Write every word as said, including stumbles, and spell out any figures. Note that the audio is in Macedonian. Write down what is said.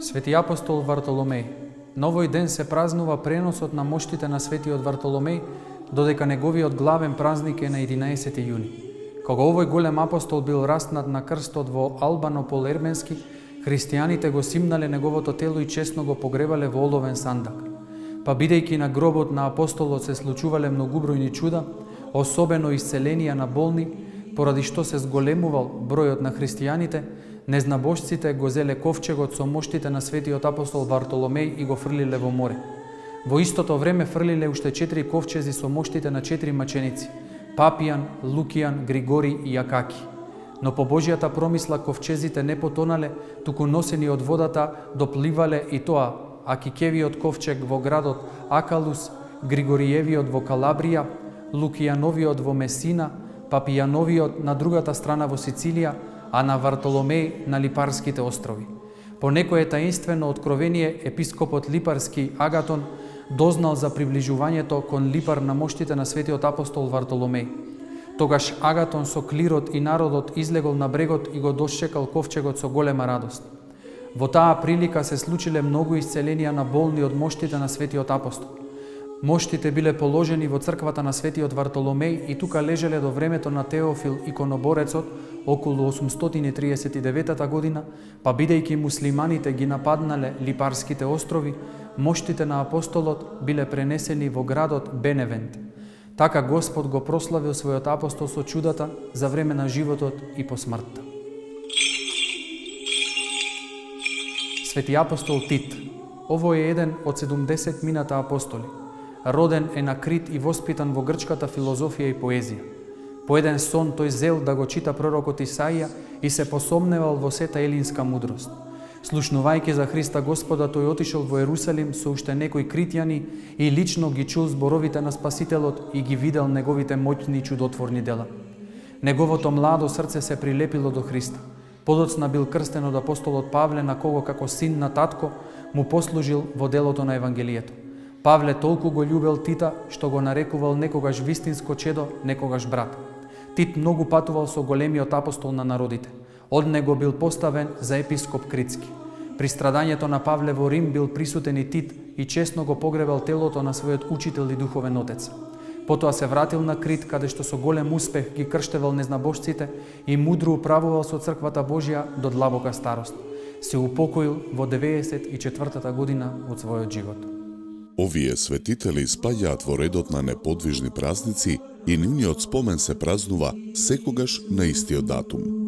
Свети апостол Вартоломеј. На овој ден се празнува преносот на моштите на светиот Вартоломеј, додека неговиот главен празник е на единаесети јуни. Кога овој голем апостол бил раснат на крстот во Албанопол Ерменски, христијаните го симнале неговото тело и честно го погребале во оловен сандак. Па бидејќи на гробот на апостолот се случувале многубројни чуда, особено исцеленија на болни, поради што се зголемувал бројот на христијаните, незнабожците го зеле ковчегот со моштите на светиот апостол Вартоломеј и го фрлиле во море. Во истото време фрлиле уште четири ковчези со моштите на четири маченици: Папијан, Лукијан, Григори и Акаки. Но по Божјата промисла ковчезите не потонале, туку носени од водата допливале, и тоа Акикевиот ковчег во градот Акалус, Григориевиот во Калабрија, Лукијановиот во Месина, Папијановиот на другата страна во Сицилија, а на Вартоломеј на Липарските острови. По некое таинствено откровение, епископот Липарски Агатон дознал за приближувањето кон Липар на моштите на светиот апостол Вартоломеј. Тогаш Агатон со клирот и народот излегол на брегот и го дошчекал ковчегот со голема радост. Во таа прилика се случиле многу исцеленија на болни од моштите на светиот апостол. Моштите биле положени во црквата на светиот Вартоломеј и тука лежеле до времето на Теофил иконоборецот околу осумстотини и триесет и деветата година, па бидејќи муслиманите ги нападнале Липарските острови, моштите на апостолот биле пренесени во градот Беневент. Така Господ го прославил својот апостол со чудата за време на животот и по смртта. Свети апостол Тит. Овој е еден од седумдесет мината апостоли. Роден е на Крит и воспитан во грчката филозофија и поезија. По еден сон тој зел да го чита пророкот Исаија и се посомневал во сета елинска мудрост. Слушнувајќи за Христа Господа, тој отишол во Ерусалим со уште некои критјани и лично ги чул зборовите на Спасителот и ги видел неговите моќни и чудотворни дела. Неговото младо срце се прилепило до Христа. Подоцна бил крстен од апостолот Павле, на кого како син на татко му послужил во делото на Евангелието. Павле толку го љубел Тита, што го нарекувал некогаш вистинско чедо, некогаш брат. Тит многу патувал со големиот апостол на народите. Од него бил поставен за епископ Критски. При страдањето на Павле во Рим бил присутен и Тит и честно го погребал телото на својот учител и духовен отец. Потоа се вратил на Крит, каде што со голем успех ги крштевал незнабожците и мудро управувал со црквата Божја до длабока старост. Се упокоил во деветдесет и четвртата година од својот живот. Овие светители спаѓаат во редот на неподвижни празници и нивниот спомен се празнува секогаш на истиот датум.